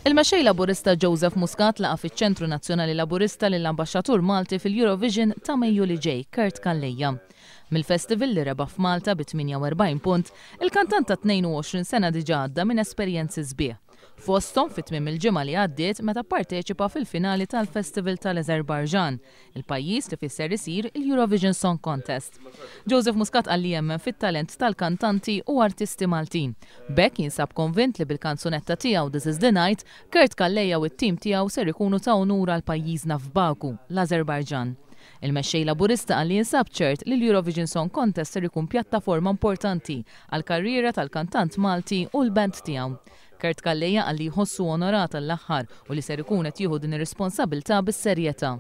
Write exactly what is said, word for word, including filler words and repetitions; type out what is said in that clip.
Il-mexxej Laburista Joseph Muscat laqa' fiċ-Ċentru Nazzjonali Laburista lill-Ambaxxatur Malti fil-Eurovision ta' Mejju li ġej, Kurt Calleja. Mill-festival li rebaħ f'Malta bi tmienja u erbgħin punt, il-kantant ta' tnejn u għoxrin sena diġà għadda minn esperjenzi sbieħ. Fosthom fit tmiem il-ġimgħa li għaddiet, meta parteċipa fil-finali tal-Festival tal-Azerbaijan, il-pajjiż li fih ser isir il-Eurovision Song Contest. Joseph Muscat qal li jemmen fit-talent tal-kantanti u artisti Maltin. B'hekk jinsab konvint li bil-kanzunetta tiegħu "This is the Night", Kurt Calleja u t-tim tiegħu ser ikunu ta' unur għal pajjiżna f'Baku, l-Azerbaijan. Il-mexxej Laburista qal li jinsab ċert li l-Eurovision Song Contest ser ikun pjattaforma importanti għal karriera tal-kantant Malti u l-band tiegħu. Kurt Calleja qal li jħossu onorat l-aħħar u li ser ikun qed jieħu din ir-responsabilità bis-serjetà.